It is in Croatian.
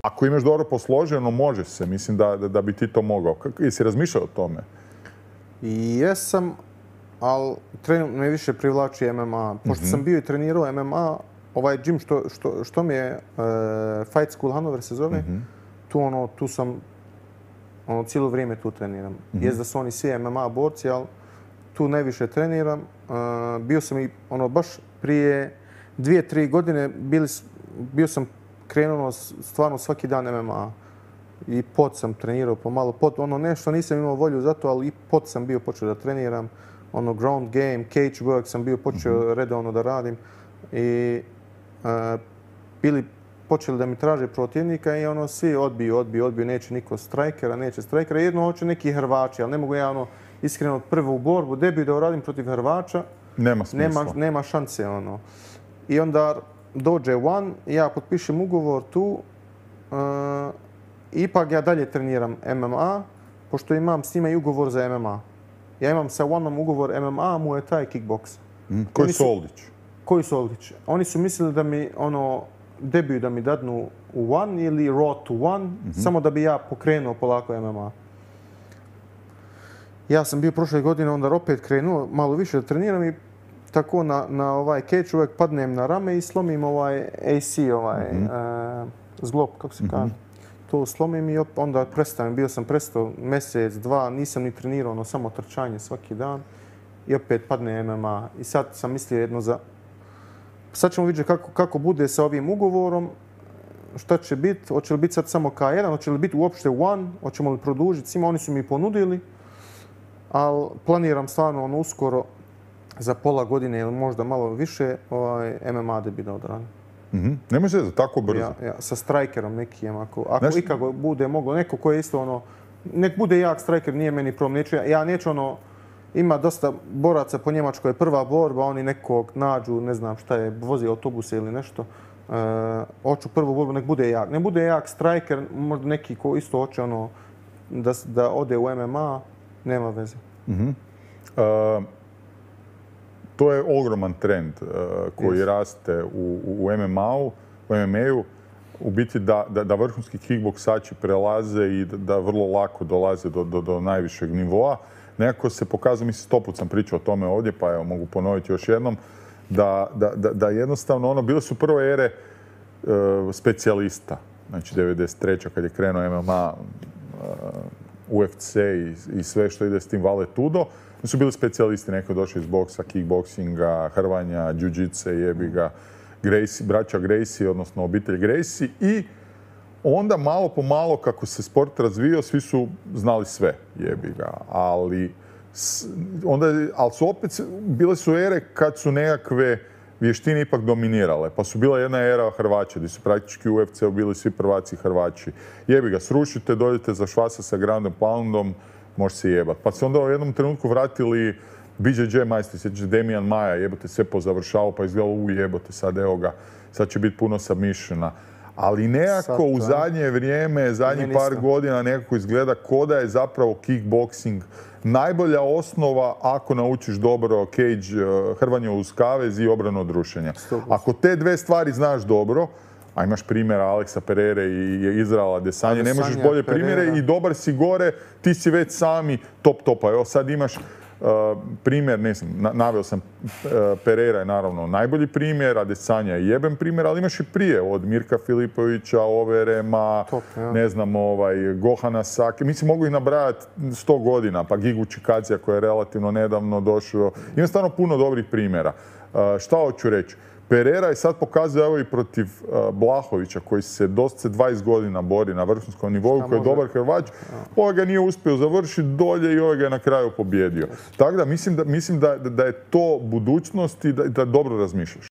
Ako imaš dobro posloženo, može se. Mislim da bi ti to mogao. Jesi razmišljao o tome? Jesam, ali trenutno me više privlači MMA. Pošto sam bio i trenirao MMA, ovaj gym što mi je Fight School Hanover se zove, tu sam cijelo vrijeme tu treniram. Jest da su oni svi MMA borci, ali tu najviše treniram. Bio sam i baš prije 2-3 godine bio sam krenuo stvarno svaki dan MMA. I pot sam trenirao pomalo. Nešto nisam imao volju za to, ali i pot sam bio počeo da treniram. Ground game, cage work sam bio počeo redovno da radim. I počeli da mi traže protivnika i svi odbiju, neće niko strajkera, Jedno hoće neki Hrvači, ali ne mogu ja iskreno prvu borbu, debiju da uradim protiv Hrvača. Nema smisla. Nema šanse. I onda dođe One, ja potpišem ugovor tu, ipak ja dalje treniram MMA, pošto imam s njima i ugovor za MMA. Ja imam sa Oneom ugovor MMA, Muay Thai, kickboks. Koji su Oldić? Koji su Oldić? Oni su mislili da mi debiju da mi dadnu u One ili Raw to One, samo da bi ja pokrenuo polako MMA. Ja sam bio prošle godine onda opet krenuo malo više da treniram i tako na ovaj cage uvijek padnem na rame i slomim ovaj AC, zglob, kako se kaže. To slomim i onda prestanem. Bio sam prestao mjesec, dva, nisam ni trenirao, samo trčanje svaki dan. I opet padne MMA. I sad sam mislio jedno za... Sad ćemo vidjeti kako bude sa ovim ugovorom, šta će biti, hoće li biti sad samo K1, hoće li biti uopšte One, hoćemo li produžiti svima, oni su mi ponudili, ali planiram stvarno uskoro za pola godine ili možda malo više MMA debut da odradim. Nemoj se za tako brzo. Sa strajkerom nekim, ako ikako bude moglo, neko ko je isto nek bude jak strajker, nije meni problem, ja neću ima dosta boraca po Njemačkoj, prva borba, oni nekog nađu, ne znam šta je, vozi autobuse ili nešto. Hoću prvu borbu, nek bude jak. Ne bude jak strajker, možda neki ko isto hoće da ode u MMA, nema veze. To je ogroman trend koji raste u MMA-u. U biti da vrhunski kickboksači prelaze i da vrlo lako dolaze do najvišeg nivoa. Nekako se pokazuje, mislim, 100 put sam pričao o tome ovdje, pa evo mogu ponoviti još jednom, da jednostavno bile su prve ere specijalista. Znači 93. kad je krenuo MMA, UFC i sve što ide s tim Vale Tudo, su bili specijalisti, neko je došao iz boksa, kickboksinga, hrvanja, jiu-jitse, jebiga, braća Gracie, odnosno obitelj Gracie. I onda malo po malo kako se sport razvio, svi su znali sve, jebiga. Ali su opet, bile su ere kad su nekakve vještine ipak dominirale. Pa su bila jedna era Hrvaća, gdje su praktički u UFC-u bili svi prvaci Hrvaći. Jebiga, srušite, dođete za švasa sa Ground and Poundom, može se jebat. Pa se onda u jednom trenutku vratili BJJ majstori, sjećaš Demian Maia, jebote, sve pozavršao, pa izgledalo jebote, sad evo ga, sad će biti puno submissiona. Ali nekako u zadnje vrijeme, zadnjih par godina nekako izgleda ko da je zapravo kickboxing najbolja osnova ako naučiš dobro cage, hrvanje uz kavez i obranu od rušenja. Ako te dve stvari znaš dobro, a imaš primjera Aleksa Perere i Izraela Adesanje, ne možeš bolje primjere i dobar si gore, ti si već sami top-topa. Evo sad imaš primjer, ne znam, naveo sam Perera je naravno najbolji primjer, Adesanja je jeben primjer, ali imaš i prije od Mirka Filipovića, Overema, ne znam, Gohana Sake. Mislim, mogu ih nabrajati 100 godina, pa Gigu Čikadzija koji je relativno nedavno došao. Ima stvarno puno dobrih primjera. Šta hoću reći? Perera je sad pokazao evo i protiv Blahovića koji se doslovce 20 godina bori na vrhunskom nivou, koji je dobar Hrvač. Ovaj ga nije uspio završiti dolje i ovaj ga je na kraju pobjedio. Tako da mislim da je to budućnost i da dobro razmišljaš.